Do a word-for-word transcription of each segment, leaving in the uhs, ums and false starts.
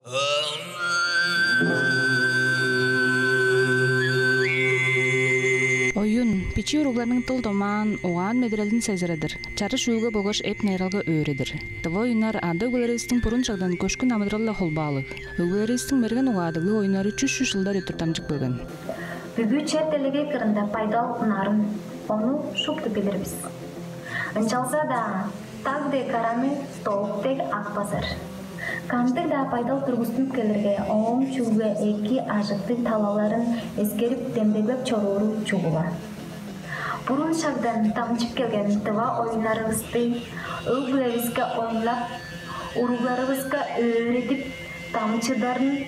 Оюн — бичии уругларның дыл-домаан, угаан-медерелин сезиредир, чарыш-үүлге болгаш эп-найыралга өөредир. Тыва оюннар ада-өгбелеривистиң бурун шагдан көшкүн амыдыралы-биле холбаалыг. Өгбелеривистиң мерген угаадыглыг оюннары чүс-чүс чылдар өттүр дамчып келген. Бүгү чер-делегей кырында байдал нарын, ону шупту билир бис. Ынчалза-даа даг дег караны столб дег ак базар. Кандыг-даа байдал тургустунуп келирге, ооң чүгле эки, ажыктыг талаларын эскерип, демдеглеп чорууру чугула. Бурун шагдан дамчып келген тыва оюннарывысты өг-бүлевиске ойнап, уругларывыска өөредип, дамчыдарын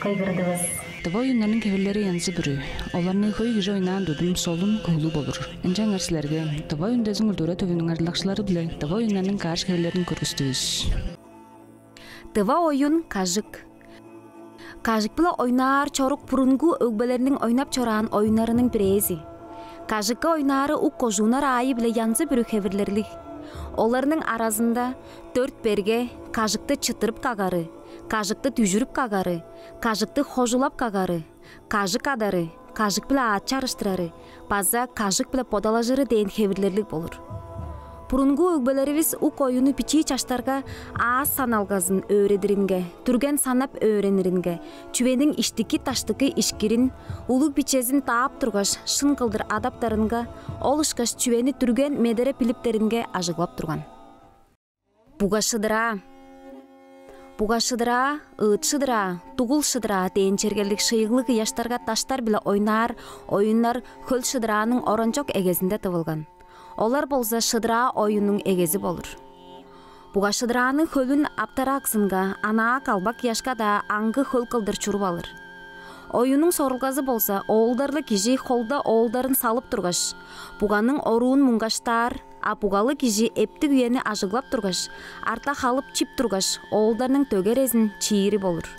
кыйгырдывыс. Тыва оюннарның хевирлери янзы-бүрү. Оларны хөй кижи ойнаан тудум солун, куглуг болур. Ынчангаш силерге Тыва үндезин культура төвүнүң ажылдакчылары-биле тыва оюннарның каш хевирлерин көргүстүвүс. Тыва оюн — кажык. Кажык-биле ойнаар чорук бурунгу өгбелерниң ойнап чораан оюннарының бирээзи. Кажыкка ойнаары ук кожууннар аайы-биле янзы-бүрү хевирлерлиг. Оларның аразында дөрт берге, кажыкты чыттырып кагары, кажыкты дүжүрүп кагары, кажыкты хожулап кагары, кажык адары, кажык-биле аът чарыштырары база кажык-биле бодалажыры дээн хевирлерлиг болур. Бурунгу өгбелеривис ук оюну бичии чаштарга аас саналгазын өөредиринге, дүрген санап өөрениринге, чүвениң иштики-даштыкы ишкирин, улуг-бичезин даап тургаш, шын кылдыр адаптарынга, ол ышкаш чүвени дүрген медере билиптеринге ажыглап турган. Буга шыдыраа. Буга шыдыраа, ыыт шыдыраа, дугул шыдыраа дээн чергелиг шыйыглыг ыяштарга даштар-биле ойнаар оюннар хөл шыдырааның оранчок эгезинде тывылган. Олар болза шыдыраа оюннуң эгези болур. Буга шыдырааның хөлүн аптараксынга, анаа калбак ыяшка-даа аңгы хөл кылдыр чуруп алыр. Оюнуң сорулгазы болза, оолдарлыг кижи холда оолдарын салып тургаш, буганың оруун муңгаштаар, а бугалыг кижи эптиг үени ажыглап тургаш, арта халып чип тургаш, оолдарның дөгерезин чиири болур.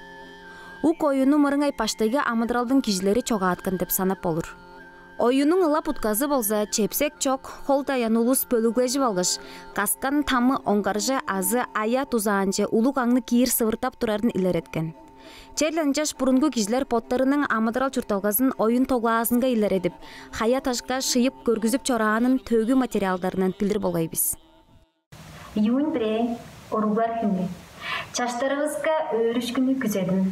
Ук оюну мырыңай баштайгы амыдыралдың кижилери чогааткан деп санап болур. Оюнуң ылап утказы болза, чепсек чок, хол даян улус бөлүглежип алгаш, каскан тамы оңгарже азы ая дузаанче улуг аңны киир сывыртап турарын илереткен. Черле ынчаш бурунгу кижилер боттарының амыдырал-чуртталгазын оюн тоглаазынга илередип, хая-дашка шыйып көргүзүп чораанын төөгү материалдарындан билир болгай бис. Июнь бирээ — уруглар хүнү. Чаштарывыска өөрүшкүнү күзедим.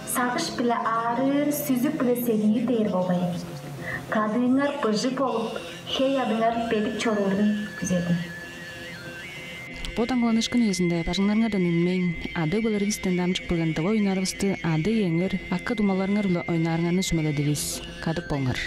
Сагыш-биле аарыыр, сүзүк-биле седиир дээр болгай. Кадыыңар быжыг болуп, хей-аъдыңар бедик чоруурун күзедим. Бо даңгыланышкын үезинде бажыңнарыңардан үнмейн, ада-өгбелеривистен дамчып келген тыва оюннарывысты ада-иеңер, акы-думаларыңар-биле ойнаарыңарны сүмеледивис. Кадык болуңар.